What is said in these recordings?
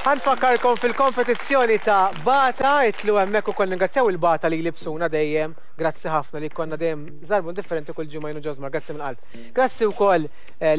Ħa nfakkarkom fil-kompetizzjoni ta' Bata, itilgħu hemmhekk ukoll ningrazzjaw il-Bata li jlibsuna dejjem. Grazzi ħafna li konna dejjem żarbun differenti kull ġimgħa jien u Ġosmar, grazzi mill-qalb. Grazzi wkoll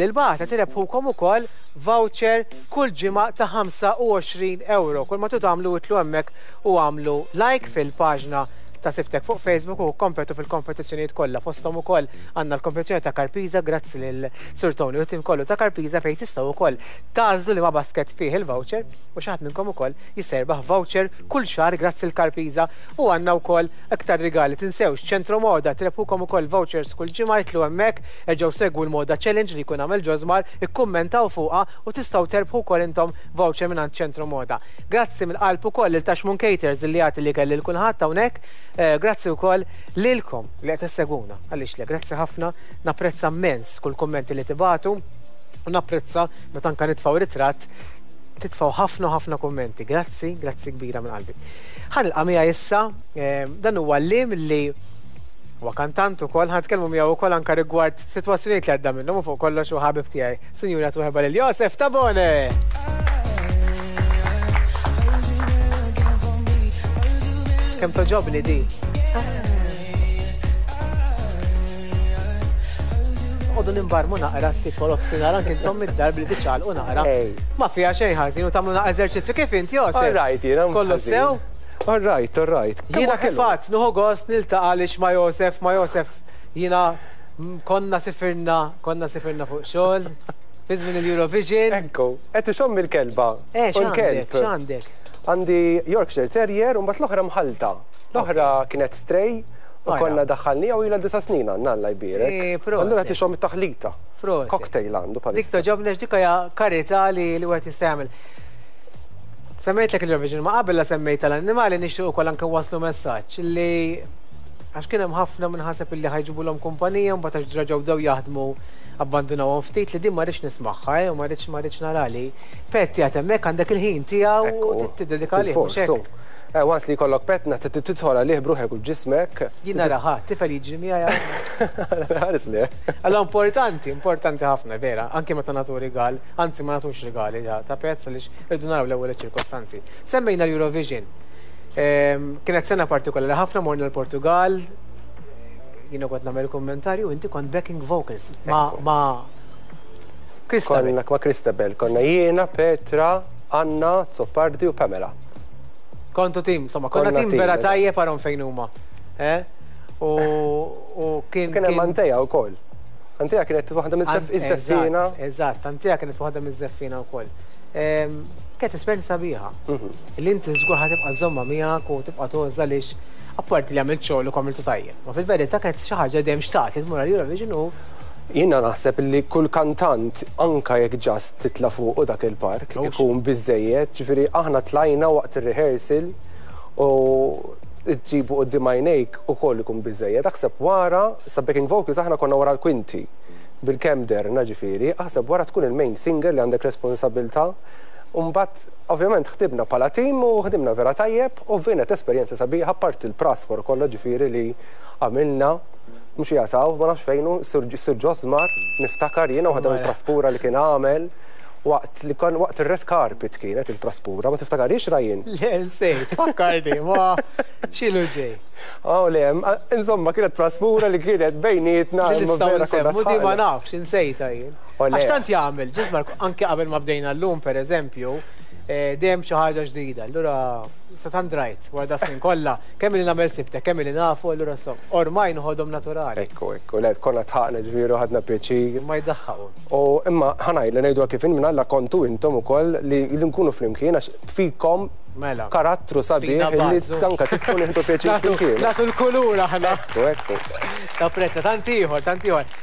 lil Bata tirebħukom ukoll voucher kull ġimgħa ta' 25 euro. Kull ma tridu tagħmlu itilgħu hemmhekk u agħmlu like fil-paġna ta' Sibtek fuq Facebook u kompetu fil-kompetizzjonijiet kollha. Fosthom ukoll għandna l-kompetizzjoni ta' Karpiza, grazzi lil Sur Tony u t-tim kollu ta' Karpiza fejn tistgħu wkoll tagħżlu liema basket fih il-voucher u xi ħadd minnkom ukoll jista' jirbaħ voucher kull xahar grazzi l Karpiza u għandna wkoll iktar rigali. Tinsewx Ċentro Moda tirebħukom ukoll vouchers kull ġimgħa itilgħu hemmhekk, erġgħu segwu l-Moda Challenge li jkun għamel Josmar, ikkummentaw fuqha u tistgħu terbħu wkoll intom voucher mingħand Ċentro Moda. Grazzi mill-qalb ukoll lil Taxmun Caters li jagħti l-ikel lil kulħadd hawnhekk. Grazzi wkoll lilkom li qed issegwuna. Għaliex le, grazzi ħafna, napprezza mmens kull kummenti li tibagħtu u napprezza meta anke nitfgħu ritratt titfgħu ħafna u ħafna kummenti. Grazzi, grazzi kbira minn qalbi. Ħa nilqa' miegħi issa dan huwa għalliem li huwa kantant ukoll, ħa nitkellmu miegħu wkoll anke rigward sitwazzjonijiet li għadda minnhom u fuq kollox huwa ħabib tiegħi. Sinjuri għatu ħeba lil Josef Tabone! Kemm toġobni di. Għodu nimbarmu naqra s-sitt wara nofsinhar anke intom id-dar billi tiċċaqalqu naqra. Ma fiha xejn ħażin u tagħmlu naqra eżerċizzju kif int Josef? All right, jiena mhux Kollu sew? All right, all right. Jiena kif għadt nieħu gost niltaqa' għaliex ma' Josef, ma' Josef jiena Konna sifirna, konna sifirna fuq xogħol, fi żmien il-Eurovision. Ekku, qed ixomm il-kelba. Eh, x'għandek, x'għandek? Għandi Yorkshire Terrier u mbagħad l-oħra mħallta. L-oħra kienet stray u konna daħħalniha u ilha disa' snin għandna Alla jbierek. Eh, proset. Allura qed ixomm it-taħlita. Proset. Cocktail għandu bħalissa. Dik togħġobni għax dik hija karità li wieħed jista' jagħmel. Semmejtlek il-Eurovision, ma qabel la semmejt tal-annimali nixtieq ukoll anke nwasslu messaġġ li għax kien hemm ħafna min ħaseb illi ħa jġibulhom kumpanija mbagħad għax reġgħu bdew jaħdmu abbandunawhom ftit li din ma rridx nismagħha eh, u ma rridx ma rridx nara li pet qiegħed hemmhekk għandek il-ħin tiegħu u tiddedika għalih mhux hekk? Eh, once li jkollok pet tidħol għalih b'ruħek u b'ġismek. Jien nara ħa, tifel jiġri miegħi. Ħares le. Allora importanti, importanti ħafna vera, anke meta nagħtu rigal, anzi ma nagħtux rigali ta' pets għaliex irridu naraw l-ewwel iċ-ċirkostanzi. Semmejna l-Eurovision. Kienet sena partikolari ħafna morna l-Portugal, jiena kont nagħmel kummentarju, inti kont backing vocals ma' ma' Christabel. Konna ma' Christabel, konna jiena, Petra, Anna, Azzopardi u Pamela. Kontu tim, insomma, konna tim vera tajjeb arhom fejn huma. Eh? U kien. Kien hemm Antea wkoll. Antea kienet waħda miż-żeffiena. Eżatt, Antea kienet waħda miż-żeffiena wkoll. Kienet esperjenza sabiħa. Li inti żgur ħa tibqa' żżommha miegħek u tibqa' tgħożżha għaliex apparti li għamilt xogħol u għamiltu tajjeb. Ma fil-verità kienet xi ħaġa li dejjem xtaqt li tmur għal Eurovision u Jiena naħseb li kull kantant anke jekk just titla' fuqu dak il-park ikun biżżejjed, ġifieri aħna tlajna waqt ir-rehearsal u ġġibu quddiem għajnejk ukoll ikun biżżejjed. Aħseb wara, sa backing vocals aħna konna wara l-kwinti bilkemm derna ġifieri, aħseb wara tkun il-main singer li għandek responsabilità u mbagħad ovvjament ħdimna bħala tim u ħdimna vera tajjeb u kienet esperjenza sabiħa apparti l-praspor kollha ġifieri li għamilna mhux qiegħed hawn, ma nafx fejn hu, Sir Josmar, niftakar jiena waħda mill-praspura li kien għamel waqt li kon waqt ir-red carpet kienet il-praspura, ma tiftakarhiex Ryan? Le, nsejt, fakkarni, ma x'ilu ġej. Oh le, insomma kienet praspura li kienet bejnietna. Li nistgħu nsemmu di ma nafx, insejtha jien. Għax tant jagħmel, Ġismar, anke qabel ma bdejna llum pereżempju, dejjem xi ħaġa ġdida. Allura sa tant drajt wara da snin kollha, kemm ili nagħmel sibtek, kemm ili nafu, allura so, ormai noħodhom naturali. Ekku, ekku, le konna dħaqna ġifieri u ħadna pjaċir. Ma jdaħħaqu. U imma ħa ngħid li ngħiduha kif inhi minn Alla kontu intom ukoll li nkunu flimkien għax fikom Mela. Karattru sabiħ li anka tidħlu nieħdu pjaċir flimkien. Nagħtu l-kulur aħna. Ekku, ekku. Napprezza, tant ieħor, tant ieħor.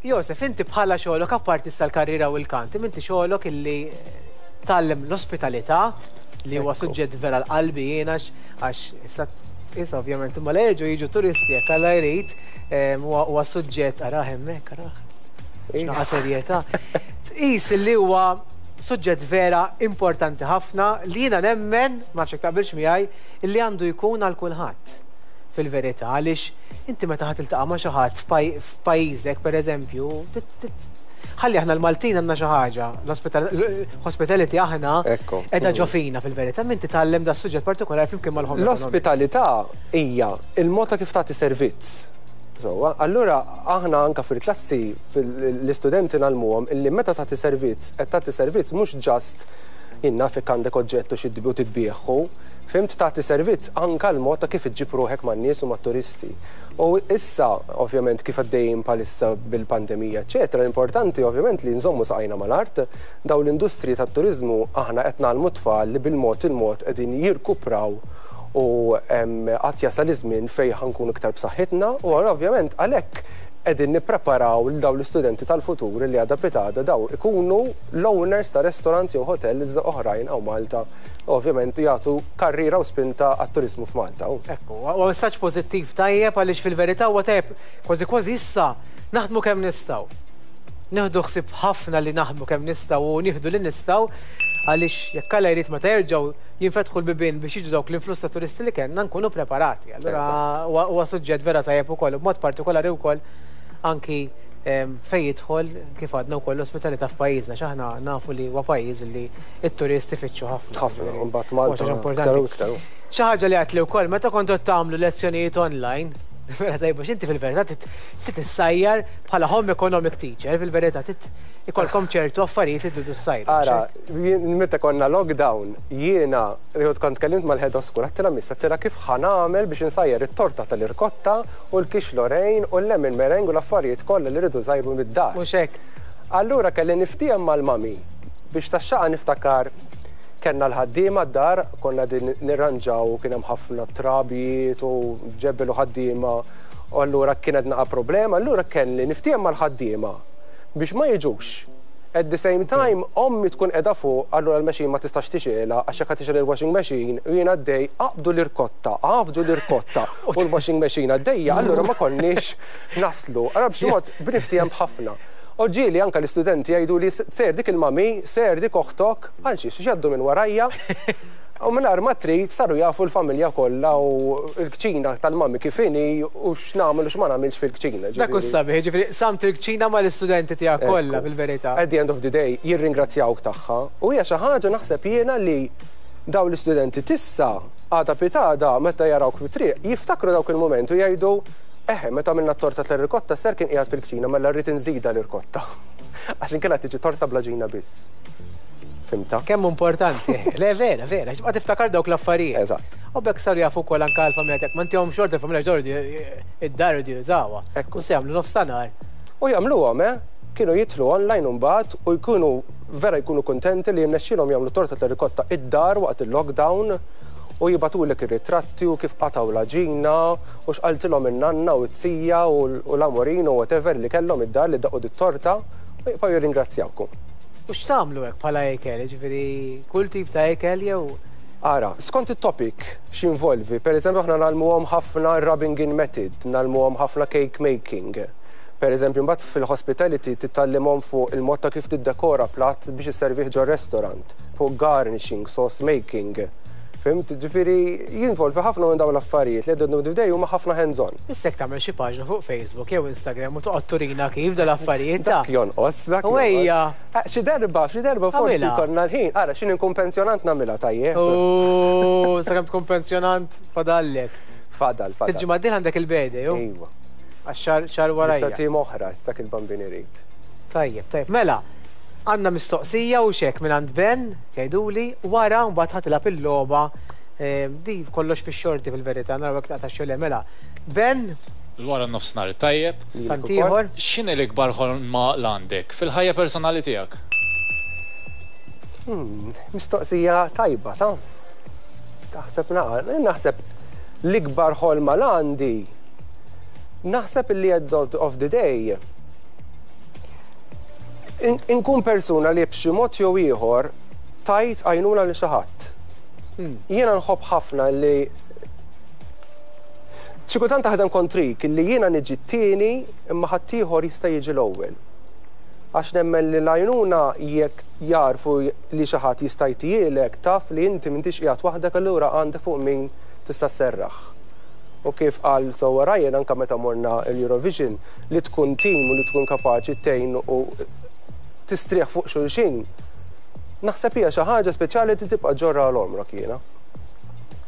Josef, inti bħala xogħlok apparti issa l-karriera u l-kant, inti xogħlok illi tgħallem l-ospitalità li huwa suġġett vera l-qalbi jien għax issa issa ovvjament imma la jerġgħu jiġu turisti jekk Alla jrid huwa suġġett arah hemmhekk arah. X'naqa' serjetà. Tqis li huwa suġġett vera importanti ħafna li jiena nemmen, ma nafx jekk taqbilx miegħi, li għandu jkun għal kulħadd fil-verità għaliex inti meta ħa tiltaqa' ma' xi ħadd f'pajjiżek pereżempju, Ħalli aħna l-Maltin għandna xi ħaġa, l-hospitality aħna qiegħda ġo fina fil-verità, min titgħallem da suġġett partikolari flimkien mal-home. L-ospitalità hija il-mod ta' kif tagħti servizz. So, allura aħna anka fil-klassi l-istudenti ngħallmuhom illi meta tagħti servizz, qed tagħti servizz mhux just inna fik għandek oġġett u xi u titbieħu, fhimt, tagħti servizz anka l-mod ta' kif iġġib ruħek man-nies u mat-turisti. U issa, ovvjament, kif għaddejjin bħalissa bil-pandemija, eċetera, l-importanti ovvjament li nżommu saqajna mal-art, daw l-industriji tat-turiżmu aħna qed ngħallmu t-tfal li bil-mod il-mod qegħdin jirkupraw u għad jasal iż-żmien fejn ħa nkunu iktar b'saħħitna u ovvjament għalhekk qegħdin nippreparaw lil dawn l-istudenti tal-futur li għada pitgħada daw ikunu l-owners ta' restaurants jew hotels oħrajn hawn Malta, ovvjament jagħtu karriera u spinta għat-turiżmu f'Malta. Ekku, huwa messaġġ pożittiv tajjeb għaliex fil-verità huwa tajjeb kważi kważi issa naħdmu kemm nistgħu. Nieħdu ħsieb ħafna li naħdmu kemm nistgħu u nieħdu li nistgħu għaliex jekk Alla jrid meta jerġgħu jinfetħu l-bibien biex jiġu dawk l-influss ta' turisti li kellna nkunu preparati. Allura huwa suġġett vera tajjeb ukoll, b'mod partikolari wkoll anki fejn jidħol kif għadna wkoll l-ospitalità f'pajjiżna, x'aħna nafu li huwa pajjiż li t-turisti ifittxu ħafna. Ħafna, mbagħad Malta iktar u iktar. Xi ħaġa li għedtli wkoll meta kontu tagħmlu lezzjonijiet online, vera tajba x'inti fil-verità trid issajjar bħala home economic teacher, fil-verità trid ikollkom ċertu affarijiet li tridu ssajru. Ara, meta konna lockdown, jiena kont tkellimt mal-head of school, għedtilha miss, għedtilha kif ħa nagħmel biex insajjar it-torta tal-irkotta u l-quiche Lorraine u l-lemon meringue u l-affarijiet kollha li rridu nsajru mid-dar. Mhux hekk. Allura kelli niftiehem mal-mami biex tax-xaqa niftakar kellna l-ħaddiema d-dar, konna din nirranġaw u kien hemm ħafna trabijiet u ġebel u ħaddiema u allura kienet naqa' problema, allura kelli niftiehem mal-ħaddiema biex ma jiġux. At the same time, ommi tkun qiegħda fuq, allura l-machine ma tistax tixgħelha għax jekk tixgħel il-washing machine u jien għaddej aqbdu l-irkotta, għafġu l-irkotta u l-washing machine għaddejja, allura ma konniex naslu. Allura b'xi mod bniftiehem b'ħafna. U ġieli anka l-istudenti jgħidu li sir dik il-mami, sir dik oħtok, għal xiex jgħaddu minn warajja. U mingħajr ma trid saru jafu l-familja kollha u l-kċina tal-mami kif inhi u x'nagħmel u x'ma nagħmilx fil-kċina. Dak hu sabiħ, jiġifieri qsamt il-kċina mal-istudenti tiegħek kollha fil-verità. At the end of the day jirringrazzjawk tagħha u hija xi ħaġa naħseb jiena li dawn l-istudenti tissa għada pitgħada meta jarawk fit-triq jiftakru dawk il-mument u jgħidu eħe meta għamilna t-torta tal-irkotta sir kien qiegħed fil-kċina mela rrid inżidha l-irkotta. Għax inkella tiġi torta bla ġina biss. Fhimtha? Kemm importanti. Le vera, vera, x'tibqa' tiftakar dawk l-affarijiet. Eżatt. U b'hekk saru jafu wkoll anke l-familja tiegħek. Ma ntihomx ordni l-familja ġordi id-dar iridu jużawha. Ekku. U se jagħmlu nofs ta' nhar. U jagħmluhom, eh? Kienu jidħlu online imbagħad u jkunu vera jkunu kuntenti li jirnexxielhom jagħmlu torta tal-rikotta id-dar waqt il-lockdown u jibagħtulek ir-ritratti u kif qatgħu l-għaġina u x'qaltilhom in-nanna u t-tija u l-amorin u whatever li kellhom id-dar li daqu dit-torta u jibqgħu jirringrazzjawkom. U x'tagħmlu hekk bħala ikel, jiġifieri kull tip ta' ikel jew? Ara, skont it-topic x'involvi, per eżempju aħna ngħallmuhom ħafna rubbing in method, ngħallmuhom ħafna cake making. Per eżempju mbagħad fil-hospitality titgħallimhom fuq il-mod ta' kif tiddekora platt biex isservih ġo restaurant, fuq garnishing, sauce making. Fhimt? Ġifieri jinvolvi ħafna minn dawn l-affarijiet li at the end of the day huma ħafna hands-on. Issa jekk tagħmel xi paġna fuq Facebook jew Instagram u toqgħod turina kif dal-affarijiet ta' Dak jonqos, dak U ejja. Xi darba, xi darba forsi jkollna l-ħin. Ara, x'inhi nkun pensjonant nagħmilha tajjeb. U sakemm tkun pensjonant fadallek. Fadal, fadal. Il-ġimgħa d-dieħla għandek il-birthday, hu? Iva. Għax xahar xahar warajja. Issa tim oħra, issa il-bambin irid. Tajjeb, tajjeb. Mela, għandna mistoqsija u xek minn għand Ben, tgħiduli, wara mbagħad ħa tilgħab il-logħba di kollox fix-xorti fil-verità, naraw jekk taqta' xi le. Mela, Ben? Wara nofsinhar tajjeb. Tant ieħor. X'inhi l-ikbar ħolma l għandek fil-ħajja personali tiegħek? Mistoqsija tajba, ta' taħseb naqa, naħseb l-ikbar ħolma l għandi naħseb li at the end of the day inkun persuna li b'xi mod jew ieħor tajt għajnuna li xi ħadd. Jiena nħobb ħafna li xi kultant taħdem kontrik li jiena niġi t-tieni imma ħaddieħor jista' jiġi l-ewwel. Għax nemmen li l-għajnuna jekk jarfu li xi ħadd jista' jtielek taf li inti m'intix qiegħed waħdek allura għandek fuq min tista' sserraħ. U kif qal sewwa Ryan anke meta morna l-Eurovision li tkun team u li tkun kapaċi tgħin u tistrieħ fuq xulxin, naħseb hija xi ħaġa speċjali li tibqa' ġġorrha għal għomrok jiena.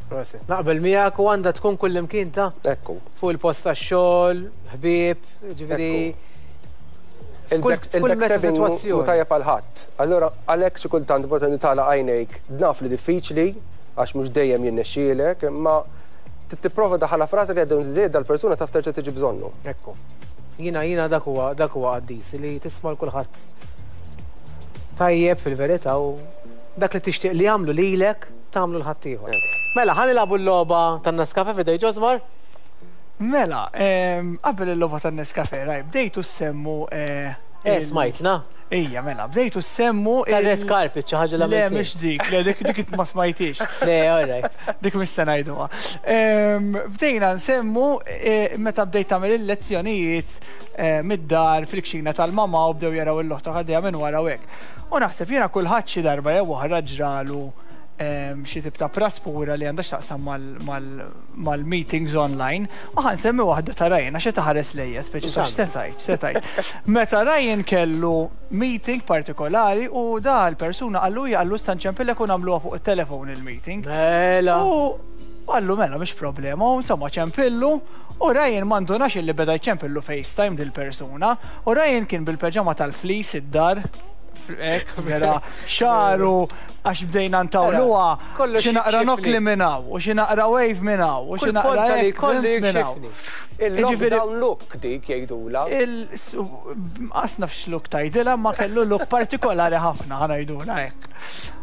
Proset. Naqbel miegħek u għandha tkun kullimkien ta'. Ekku. Fuq il-post tax-xogħol, ħbieb, ġifieri. Il-backstabbing mhu tajjeb għal ħadd. Allura għalhekk xi kultant importanti tagħlaq għajnejk, naf li diffiċli għax mhux dejjem jirnexxielek, imma tipprova daħħalha f'rasek li at the end of the day dal-persuna taf terġa' tiġi bżonnu. Ekku. Jiena jiena dak huwa dak huwa qaddis li tisma' 'l kulħadd tajjeb fil-verità u dak li tixtieq li jagħmlu lilek tagħmlu 'l ħaddieħor. Mela ħa nilagħbu l-logħba tan-Nescafe f'idej Josmar. Mela, qabel il-logħba tan-Nescafe, raj, bdejtu ssemmu. Eh, smajtna. Ija, mela, bdejtu ssemmu. Tar-red carpet, xi ħaġa li Le, mhix dik, le, dik dik ma smajtix. Le, all right. Dik mhix se ngħiduha. Bdejna nsemmu meta bdejt tagħmel il-lezzjonijiet mid-dar fil-kxina tal-mama u bdew jaraw il-loħta għaddejja minn wara u hekk. U naħseb jiena kulħadd xi darba jew oħra ġralu xi tip ta' praspura li għandha x'taqsam mal-meetings online u ħa nsemmi waħda ta' Ryan għax qed iħares lejja speċi ta' x'se tgħid, x'se tgħid. Meta Ryan kellu meeting partikolari u da l-persuna qallu hija qallu issa nċempillek u nagħmluha fuq it-telefon il-meeting. Mela. U qallu mela mhix problema u insomma ċempillu u Ryan ma ndunax illi beda jċempillu FaceTime dil-persuna u Ryan kien bil-peġama tal-fleece id-dar hekk vera xagħru għax bdejna ntawluha xi naqra nokli minn hawn u xi naqra wave minn hawn u xi naqra hekk minn hawn. Il-lockdown look dik jgħidulha. Qas naf x'look tgħidilha imma kellu look partikolari ħafna ħa ngħidulha hekk.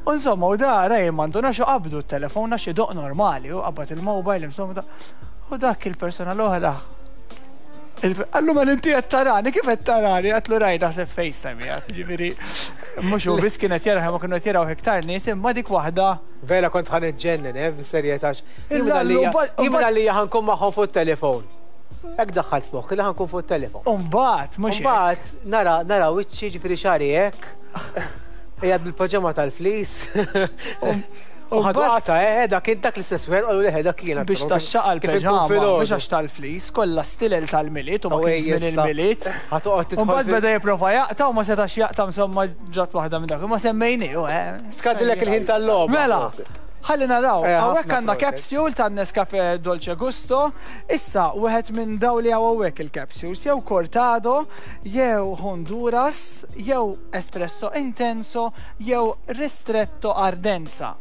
U insomma u da Ryan ma ndunax u qabdu t-telefon għax idoqq normali u qabad il-mobile insomma u dak il-persuna l-oħra Qallu mela inti qed tarani, kif qed tarani? Għatlu raj naħseb FaceTime qiegħed, ġifieri mhux hu biss kien qed jarah imma kienu qed jaraw iktar nies imma dik waħda. Vera kont ħa niġġennen, eh, bis-serjetà għax jien għalija ħa nkun magħhom fuq it-telefon. Hekk daħħalt f'moħħi li ħa nkun fuq it-telefon. U mbagħad mhux hekk. Mbagħad nara nara wiċċi ġifieri xagħri hekk. Qiegħed bil-paġama tal-fleece. U ħadu qatgħa, eh, dak kien dak l-istess wieħed qalu le dak kien. Biex taxxaqa l-peġama, mhux għax tal-fleece, kollha stilel tal-Milied u ma kienx żmien il-Milied. Ħa toqgħod tidħol. U mbagħad beda jipprova jaqta' u ma setax jaqta' insomma ġat waħda minn dak. Ma semmejniehu, eh. Skadilek il-ħin tal-logħba. Mela, ħalli naraw. Hawnhekk għandna capsule tan-Nescafe Dolce Gusto. Issa, wieħed minn dawn li hawn hawnhekk il-capsules, jew cortado, jew Honduras, jew espresso intenso, jew ristretto ardenza.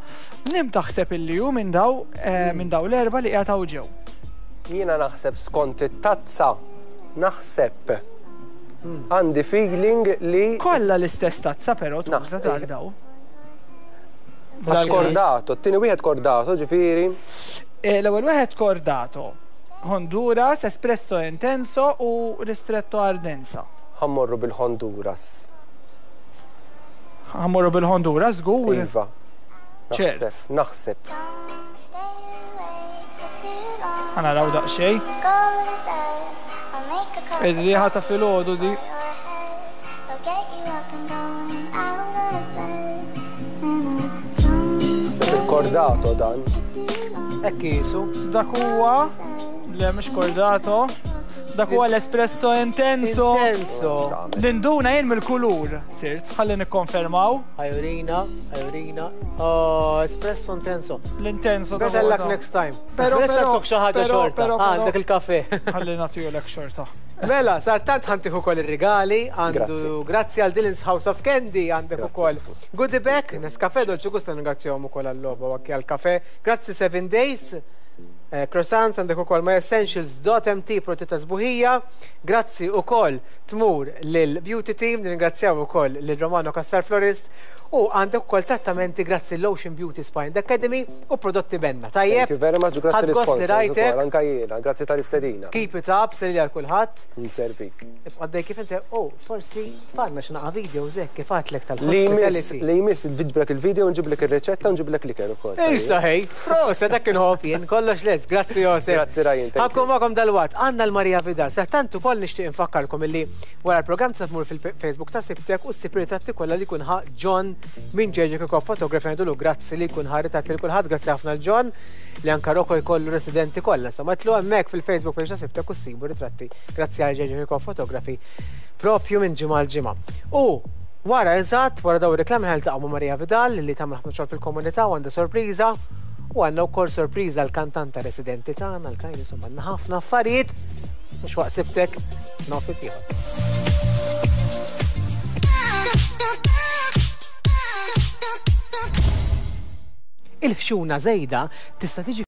Liem taħseb illi hu minn daw minn daw l-erba' li qiegħed hawn ġew? Jiena naħseb skont it-tazza, naħseb. Għandi feeling li. Kollha l-istess tazza però tuża tal daw. Għax kordato, t-tieni wieħed kordato, ġifieri. L-ewwel wieħed kordato, Honduras, espresso intenso u ristretto ardenza. Ħa mmorru bil-Honduras. Ħa mmorru bil-Honduras żgur? Iva. Ċert. Naħseb. Ħa naraw daqsxejn. Ir-riħa ta' filgħodu di. Naħseb il-kordato dan. Hekk qisu. Dak huwa le mhux kordato. Dak huwa l-espresso intenso. Intenso. Ninduna jien mill-kulur, sirt, ħalli nikkonfermaw. Ħajurina, ħajurina. Oh, espresso intenso. L-intenso. Better luck next time. Pero, pero, xi ħaġa xorta. Għandek il-kafe. Ħalli nagħtihulek xorta. Mela, sa tant ħantiħu kol il-regali, għandu grazzi għal Dylan's House of Candy, għandek ukoll goodie bag, Nescafe, Dolce Gusto ringrazzjahom ukoll għall-logħba u anke għall-kafe. Grazzi 7 Days. Eh, croissants għandek ukoll myessentials.mt prodotti ta' sbuħija. Grazzi ukoll tmur lil Beauty Team, nirringrazzjaw ukoll lil Romano Cassar Florist u għandek ukoll trattamenti grazzi l-Ocean Beauty Spa and Academy u prodotti Benna. Tajjeb? Thank you very much, grazzi l-sponsors ukoll, anka jiena, grazzi tal-istedina. Keep it up, selli għal kulħadd. Nservik. Ibqa' għaddej kif inti, oh, forsi tfalna xi naqa' videos hekk kif għadtlek tal-hospitality. Li jmiss nġiblek il-video, nġiblek ir-riċetta, nġiblek l-ikel ukoll. Issa ħej, proset dak inħobb jien, kollox lest, grazzi Josef. Grazzi Ryan. Ħa nkun magħkom dalwaqt, għandna l-Maria Vidal. Sadanittant ukoll nixtieq infakkarkom illi wara l-programm tista' tmur fil-Facebook ta' Sibtek u ssib ritratti kollha li jkun ħa John minn JJ Kirkhoff Photography ngħidulu grazzi li jkun ħa ritratti lil kulħadd, grazzi ħafna l John li anka Rocco jkollu residenti kollha. Insomma, itlu hemmhekk fil-Facebook page ta' Sibtek u ssibu ritratti grazzi għal JJ Kirkhoff Photography propju minn ġimgħa għal ġimgħa. U Wara eżatt, wara dawn ir-riklami ħa niltaqgħu ma' Maria Vidal li tagħmel ħafna xogħol fil-komunità u għandha sorpriża. U għandna wkoll sorpriża l-kantanta residenti tagħna, l-Kajn, insomma għandna ħafna affarijiet. Mhux waqt sibtek, nofs ieħor. Il-ħxuna żejda tista' tiġi.